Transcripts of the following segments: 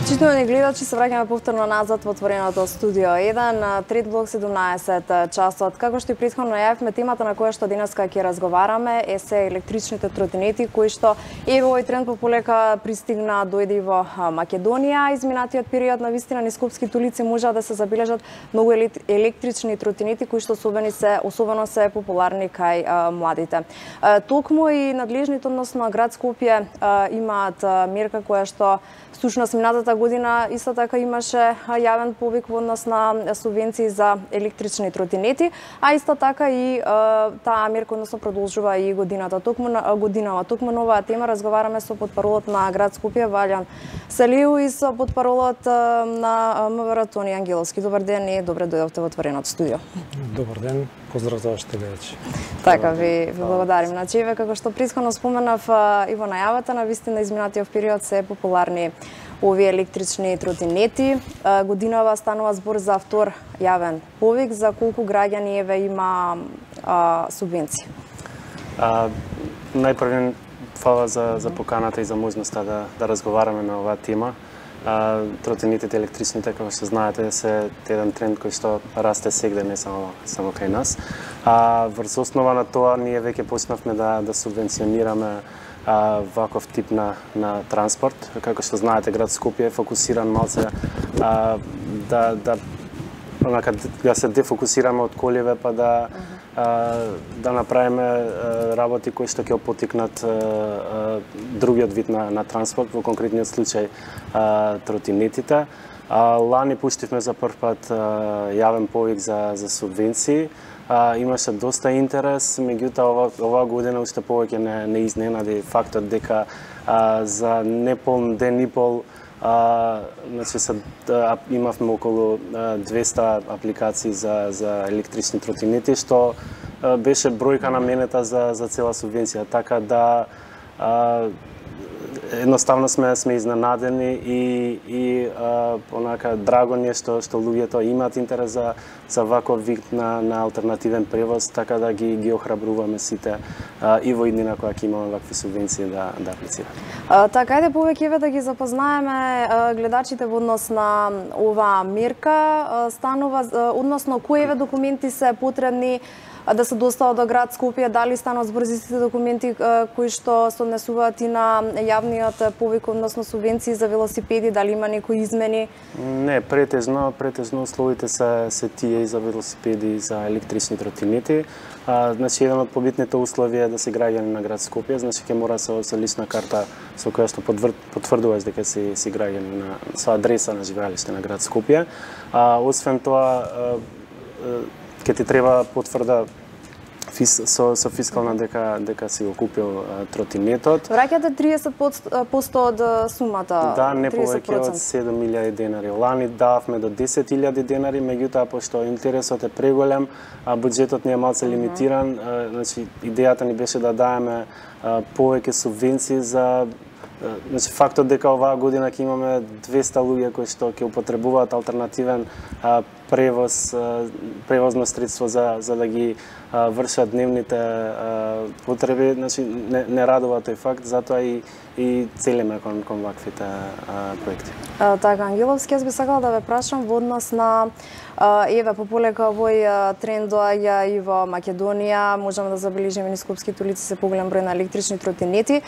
Почитувани гледачи, се враќаме повторно назад во отвореното студио 1, трет блок 17 часот. Како што и претходно најавивме, темата на која што денеска ќе разговараме е се електричните тротинети, кои што и во овој тренд пополека пристигна, дојде и во Македонија. Изминатиот период на вистина низ скопските улици можа да се забележат многу електрични тротинети кои што особено се популарни кај младите. Токму и надлежните, односно град Скопје, имаат мерка која што всушност минатата година исто така имаше јавен повик во однос на субвенции за електрични тротинети, а исто така и таа мерка односно продолжува и годинава. Токму на оваа тема разговараме со потпаролот на град Скопје Валјан Селиу и со потпаролот на МВР Тони Ангеловски. Добар ден и добре дојдовте во отвореното студио. Добар ден, поздрав за вашите гледачи. Така, ви благодарим. Значи, како што претходно споменав и во најавата, на вистина изминатиот период се популарни овие електрични тротинети. Годинава станува збор за втор јавен повик. За колку граѓани има субвенција? Најпрвен фала за поканата и за можноста да разговараме на оваа тема. Тротинетите електричните, како што знаете, се еден тренд кој што расте сегде, не само кај нас. Врз основа на тоа ние веќе почнавме да субвенционираме ваков тип на транспорт. Како што знаете, град Скопје е фокусиран малце да се дефокусираме од колеве, па да направиме работи кои што ќе опотикнат другиот вид на транспорт, во конкретниот случај тротинетите. Лани пуштивме за прв пат јавен повик за субвенции. Имаше доста интерес, меѓутоа оваа година уште повеќе не изненади фактот дека за неполн ден и пол имавме околу 200 апликации за електрични тротинети, што беше бројка наменета за цела субвенција. Така да едноставно сме изненадени и онака драго ни е што луѓето имаат интерес за ваков вид на алтернативен превоз, така да ги охрабруваме сите и во иднина која ќе имаме вакви субвенции да аплицираат. Така, ајде повеќе да ги запознаеме гледачите во однос на оваа мерка. Станува односно кои документи се потребни да се достават до град Скопје, дали станат збор за сите документи кои што се однесуваат и на јавниот повик, односно субвенции за велосипеди, дали има некои измени? Не, претежно условите се тие и за велосипеди и за електрични тротинети. Значи, еден од побитните услови е да си граѓани на град Скопје, значи ќе мора со лична карта со која што потврдуваш дека си граѓани со адреса на живеалиште на град Скопје. Освен тоа, ќе ти треба потврда со фискална дека си го купил тротинетот. Враќате 30% од сумата? Да, не повеќе од 7.000 денари. Лани дававме до 10.000 денари, меѓутоа пошто интересот е преголем, буџетот ни е малце лимитиран, значи идејата ни беше да даеме повеќе субвенции за Значи, фактот дека оваа година ќе имаме 200 луѓе кои што ќе употребуваат алтернативен превозно средство за да ги вршат дневните потреби, значи не радува тој факт, затоа и целиме кон ваквите проекти. Така, Ангеловски, јас би сакала да ве прашам во однос на пополека овој тренд доаѓа и во Македонија, можеме да забележиме низ скопските улици се поголем број на електрични тротинети.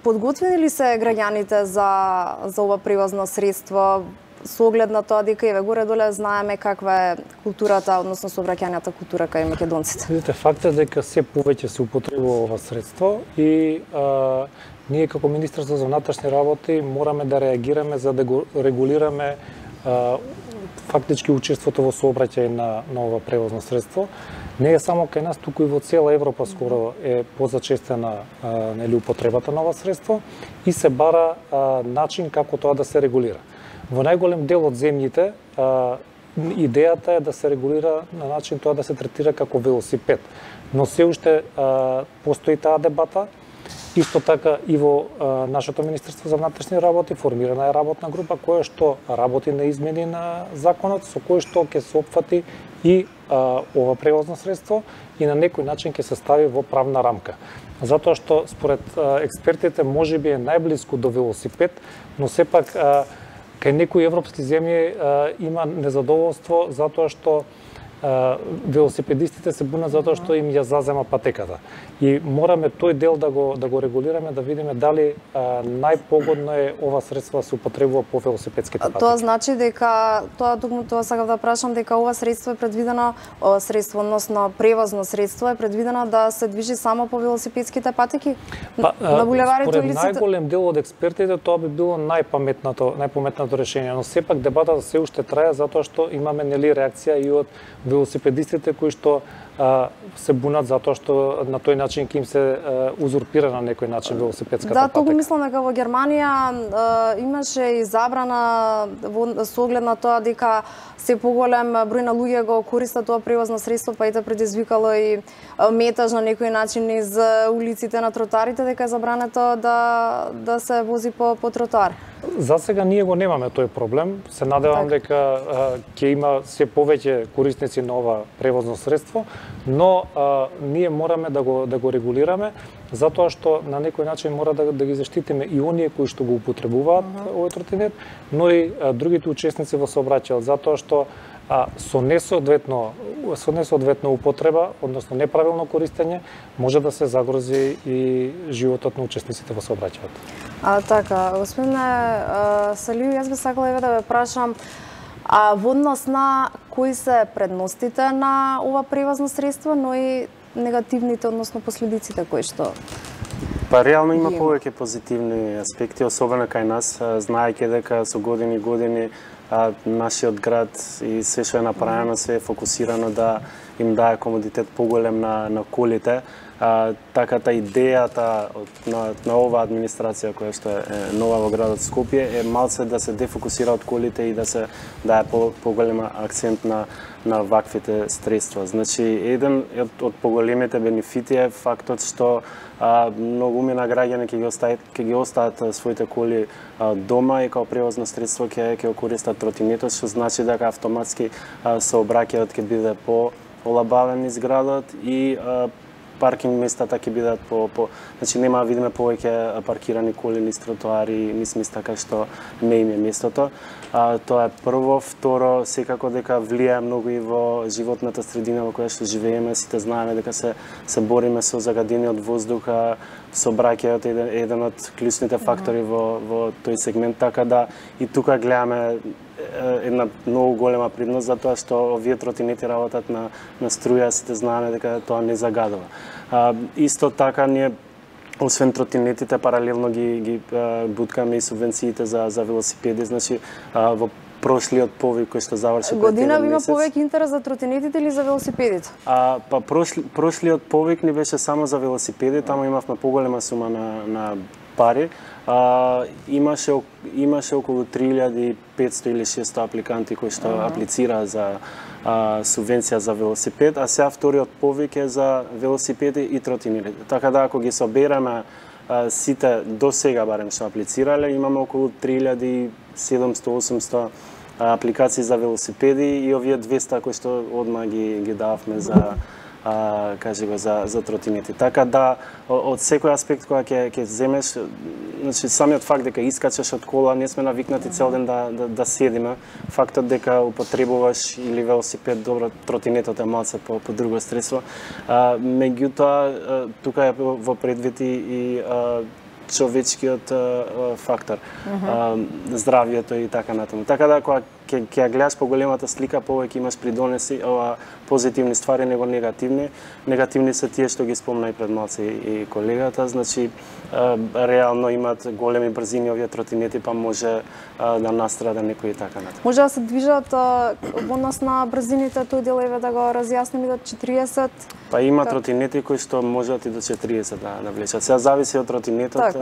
Подготвени ли се граѓаните за ова превозно средство? Со оглед на тоа дека горе-доле знаеме каква е културата, односно сообраќајната култура кај македонците. Видите, факт е дека се повеќе се употребува ова средство и ние како Министерство за внатрешни работи мораме да реагираме за да го регулираме фактички учеството во сообраќај на ова превозно средство. Не е само кај нас, туку и во цела Европа скоро е позачестена употребата на ова средство и се бара начин како тоа да се регулира. Во најголем дел од земјите идејата е да се регулира на начин тоа да се третира како велосипед, но се уште постои таа дебата. Исто така и во нашето Министерство за внатрешни работи формирана е работна група која што работи на измени на законот, со кој што ќе се опфати и ова превозно средство и на некој начин ќе се стави во правна рамка. затоа што според експертите можеби е најблиску до велосипед, но сепак кај некои европски земји има незадоволство затоа што велосипедистите се бунат затоа што им ја зазема патеката. И мораме тој дел да го регулираме, да видиме дали најпогодно е ова средство да се употребува по велосипедските патеки. Тоа значи дека тоа сакав да прашам дека ова средство е предвидено, односно превозно средство е предвидено да се движи само по велосипедските патеки на булеварите и улиците. Според најголем дел од експертите тоа би било најпаметното решение, но сепак дебатата се уште трае затоа што имаме реакција и од велосипедистите кои што се бунат затоа што на тој начин ќе им се узурпира на некој начин велосипедската патека. Да, тоа го мислам дека во Германија имаше и забрана со оглед на тоа дека се поголем број на луѓе го користат тоа превозно средство, па и да предизвикало и метаж на некој начин из улиците на тротарите, дека е забрането да се вози по тротар. За сега ние го немаме тој проблем. Се надевам дека ќе има се повеќе корисници на ова превозно средство, но ние мораме да го регулираме, затоа што на некој начин мора да ги заштитиме и оние кои што го употребуваат овој тротинет, но и другите учесници во сообраќајот, затоа што со несоодветна употреба, односно неправилно користење, може да се загрози и животот на учесниците во сообраќајот. Така, господине Салију, јас би сакала да ве прашам во однос на кои се предностите на ова превозно средство, но и негативните, односно последиците кои што Па реално има повеќе позитивни аспекти, особено кај нас, знаејќи дека со години нашиот град и се што е направено се е фокусирано да им дае комодитет поголем на колите. Така идејата на оваа администрација која што е нова во градот Скопје е малце да се дефокусира од колите и да се дае поголем акцент на ваквите средства. Значи, еден од поголемите бенефити е фактот што многумина граѓани ќе ги остават своите коли дома и као превозно средство ќе го користат тротинетот, што значи дека автоматски сообраќајот ќе биде по-олабавен низ градот и паркинг местата ќе бидат значи нема да видиме повеќе паркирани коли низ тротоари, низ места кај што не им е местото. Тоа е прво, второ, секако дека влијае многу и во животната средина во која што живееме, сите знаеме дека се бориме со загадениот воздух, сообраќајот е еден од клучните фактори во тој сегмент, така да и тука гледаме една многу голема предност затоа што овие тротинети работат на струја, сите знаеме дека тоа не загадува. Исто така ние освен тротинетите паралелно ги буткаме и субвенциите за велосипеди, значи во прошлиот повик кој што заврши година има повеќе интерес за тротинетите или за велосипедите? Па прошлиот повик не беше само за велосипеди, таму имавме поголема сума на пари. Имаше околу 3500 или 600 апликанти кои што аплицираа за субвенција за велосипед, а сега вториот повик е за велосипеди и тротинети. Така да ако ги собереме сите до сега барем што аплицирале, имаме околу 3700-800 апликации за велосипеди и овие 200 кои што одма ги дававме за за тротинети. Така да од секој аспект кога ќе земеш, значи самиот факт дека искачаш од кола, не сме навикнати цел ден да седиме. Фактот дека употребуваш или велосипед, добро, тротинетот е малце по друго средство. Меѓутоа тука е во предвид и човечкиот фактор, здравјето и така натаму. Така да кога ќе гледаш поголемата слика, повеќе имаш придонеси позитивни ствари него негативни. Негативни се тие што ги спомна и пред малце и колегата, значи реално имаат големи брзини овие тротинети, па може да настрада некој и така натаму. Може да се движат во однос на брзините, тој дел еве да го разјасним до 40. Па има тротинети кои што можат и до 40 да влечат. Сега зависи од тротинетот.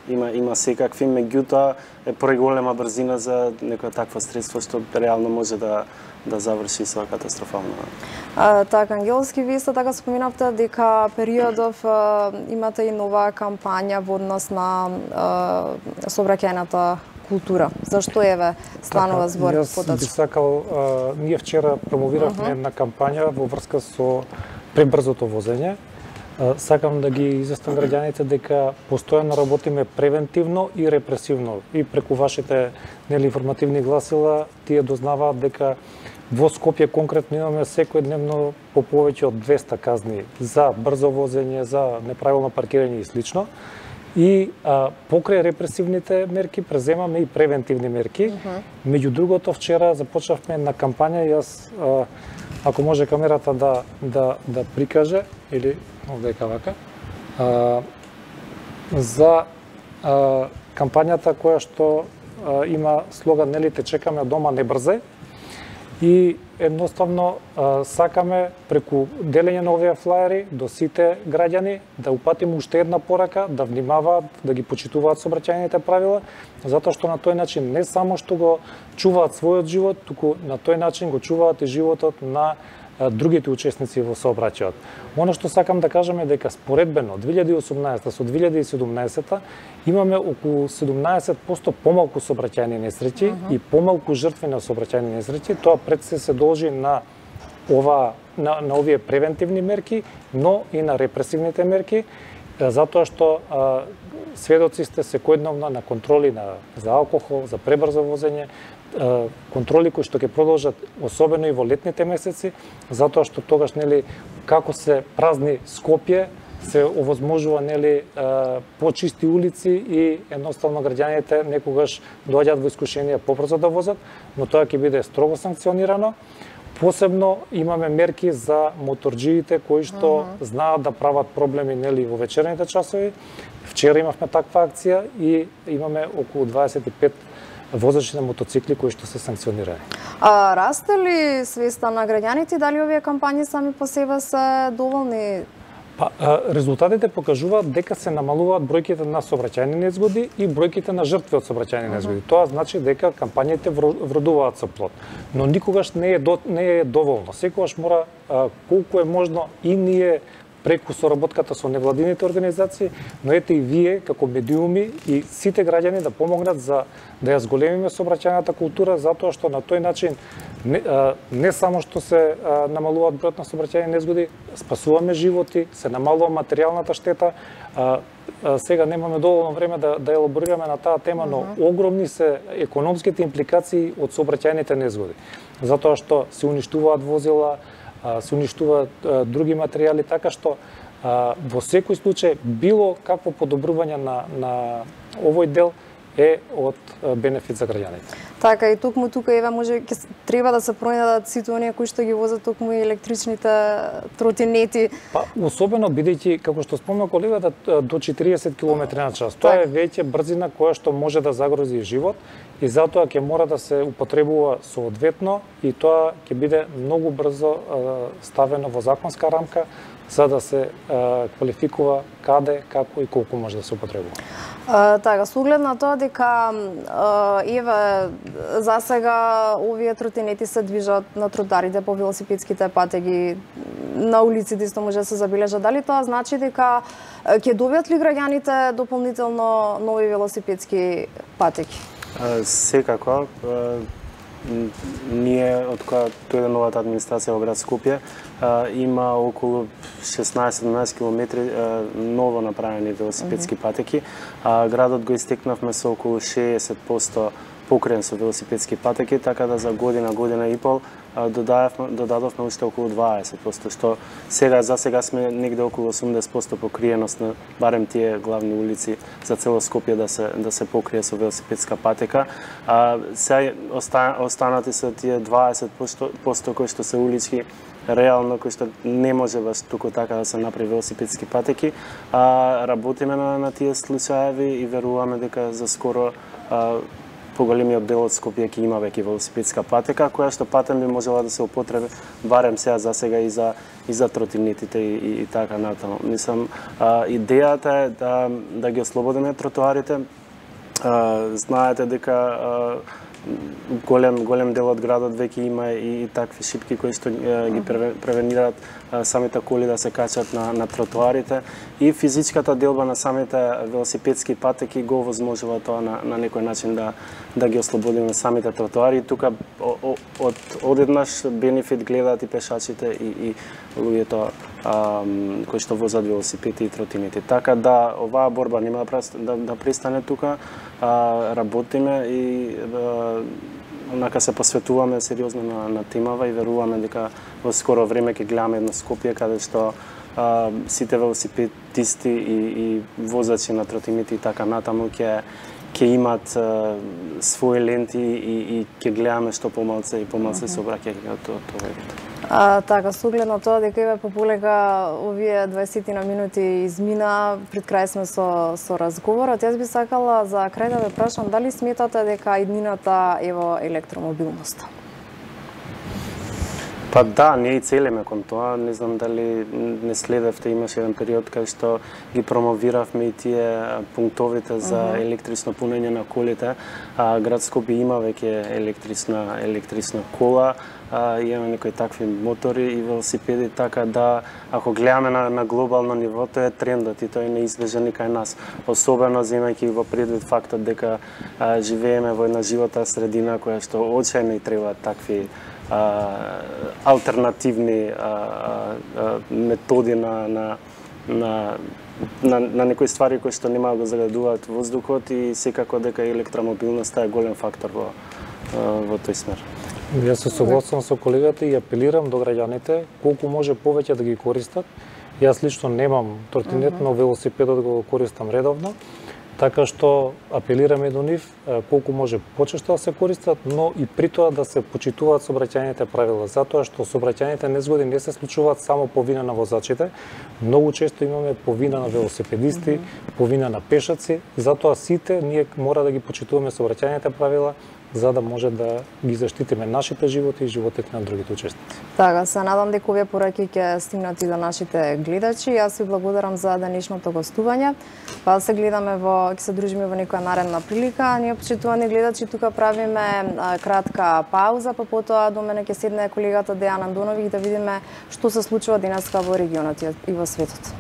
Има секакви, меѓутоа е преголема брзина за некоја таква средство што реално може да заврши со катастрофално. Така, Ангелски, вие исто така споминавте дека периодов имате и нова кампања во однос на сообраќајната култура. Зашто еве станува збор поточно? Јас би сакал, ние вчера промовиравме една кампања во врска со пребрзото возење. сакам да ги известам граѓаните дека постојано работиме превентивно и репресивно. И преку вашите информативни гласила тие дознаваат дека во Скопје конкретно имаме секојдневно по повеќе од 200 казни за брзо возење, за неправилно паркирање и слично. И покрај репресивните мерки преземаме и превентивни мерки. Меѓу другото, вчера започнавме на кампања, јас ако може камерата да прикаже, или овдека вака, за кампањата која што има слоган "Нели те чекаме дома, не брзај", и едноставно сакаме преку делење на овие флаери до сите граѓани да упатиме уште една порака, да внимаваат, да ги почитуваат сообраќајните правила, затоа што на тој начин не само што го чуваат својот живот, туку на тој начин го чуваат и животот на другите учесници во сообраќајот. Оно што сакам да кажам е дека споредбено 2018 со 2017 имаме околу 17% помалку сообраќајни несреќи и помалку жртви на сообраќајни несреќи. Тоа пред се должи на овие превентивни мерки, но и на репресивните мерки, затоа што сведоци сте секојдневно на контроли за алкохол, за пребрзо возење, контроли кои што ќе продолжат особено и во летните месеци, затоа што тогаш како се празни Скопје, се овозможува почисти улици и едноставно граѓаните некогаш доаѓаат во искушение побрзо да возат, но тоа ќе биде строго санкционирано. Посебно имаме мерки за моторџиите кои што знаат да прават проблеми во вечерните часови. Вчера имавме таква акција и имаме околу 25 возачи на мотоцикли кои што се санкционирани. Расте ли свеста на граѓаните, дали овие кампањи сами по себе се доволни? Резултатите покажуваат дека се намалуваат бројките на сообраќајни незгоди и бројките на жртви од сообраќајни незгоди. Тоа значи дека кампањите вродуваат со плод. Но никогаш не е доволно. Секогаш мора колку е можно и ние преку соработката со невладините организации, но ете и вие како медиуми и сите граѓани да помогнат за да ја зголемиме сообраќајната култура, затоа што на тој начин не само што се намалуваат бројот на сообраќајни незгоди, спасуваме животи, се намалува материјалната штета. Сега немаме доволно време да елаборираме на таа тема, но огромни се економските импликации од сообраќајните незгоди, затоа што се уништуваат возила, се уништуваат други материјали, така што во секој случај било какво подобрување на овој дел е од бенефит за граѓаните. Така и тука може треба да се пронајдат сите оние кои што ги возат токму и електричните тротинети. Особено бидејќи како што спомна колегата до 40 км/ч. Тоа е веќе брзина која што може да загрози живот и затоа ќе мора да се употребува соодветно и тоа ќе биде многу брзо ставено во законска рамка за да се квалификува каде, како и колку може да се употребува. Така, со оглед на тоа дека за сега овие тротинети се движат на тротоарите по велосипедските патеги, на улиците исто може да се забележат. Дали тоа значи дека ќе добијат ли граѓаните дополнително нови велосипедски патеки? Секако. Ние, од кога дојде новата администрација во град Скопје, има околу 16-17 километри ново направени велосипедски патеки. Градот го истекнавме со околу 60% покриен со велосипедски патеки, така да за година и пол додадовме уште околу 20%, што за сега сме негде околу 80% покриеност на барем тие главни улици за цело Скопје да се покрие со велосипедска патека. Сега останати се тие 20% кои што се улички, реално кои што не може баш туку така да се направи велосипедски патеки. Работиме на тие случаеви и веруваме дека за скоро поголемиот дел од Скопје ќе има веќе велосипедска патека, која што патем би можела да се употреби барем за сега и за тротинетите и така натаму. Мислам, идејата е да ги ослободиме тротоарите. Знаете дека голем дел од градот веќе има и такви шипки кои што ги превенираат самите коли да се качат на тротоарите и физичката делба на самите велосипедски патеки го овозможува тоа на некој начин да ги ослободиме самите тротоари. Тука одеднаш бенефит гледаат и пешачите и луѓето кои што возат велосипеди и тротинети. Така да оваа борба нема да престане тука, работиме и онака се посветуваме сериозно на темава и веруваме дека во скоро време ќе гледаме едно Скопје каде што сите велосипедисти и возачи на тротинети и така натаму ќе имат своји ленти и ќе гледаме што помалце и помалце сообраќајќи од тоа вид. Така, со оглед на тоа дека еве пополека овие 20 на минути измина, пред крај сме со разговорот. Јас би сакала за крај да ве прашам дали сметате дека иднината е во електромобилноста? Па да, ние и целиме кон тоа. Не знам дали не следевте, имаше еден период кај што ги промовиравме и тие пунктовите за електрично пунење на колите. Град Скопје има веќе електрична кола, имаме некои такви мотори и велосипеди, така да ако гледаме на глобално ниво, тоа е трендот и тој е неизбежен и кај нас. Особено земајќи во предвид фактот дека живееме во една животна средина која што очајно и треба такви алтернативни методи на некои ствари кои што нема да загадуваат воздухот и секако дека електромобилноста е голем фактор во тој смер. Јас се согласувам со колегата и апелирам до граѓаните колку може повеќе да ги користат. Јас лично немам тротинет, но велосипедот го користам редовно. Така што апелираме до нив колку може почесто да се користат, но и при тоа да се почитуваат сообраќајните правила, затоа што сообраќајните незгоди не се случуваат само по вина на возачите, многу често имаме по вина на велосипедисти, по вина на пешаци, затоа сите ние мора да ги почитуваме сообраќајните правила за да може да ги заштитиме нашите животи и животите на другите учесници. Така, се надам дека овие пораки ќе стигнат и до нашите гледачи. Јас ви благодарам за денешното гостување. Па се гледаме ќе се дружиме во некоја наредна прилика. Ние, почитувани гледачи, тука правиме кратка пауза, па потоа до мене ќе седне колегата Дејан Андоновиќ да видиме што се случува денеска во регионот и во светот.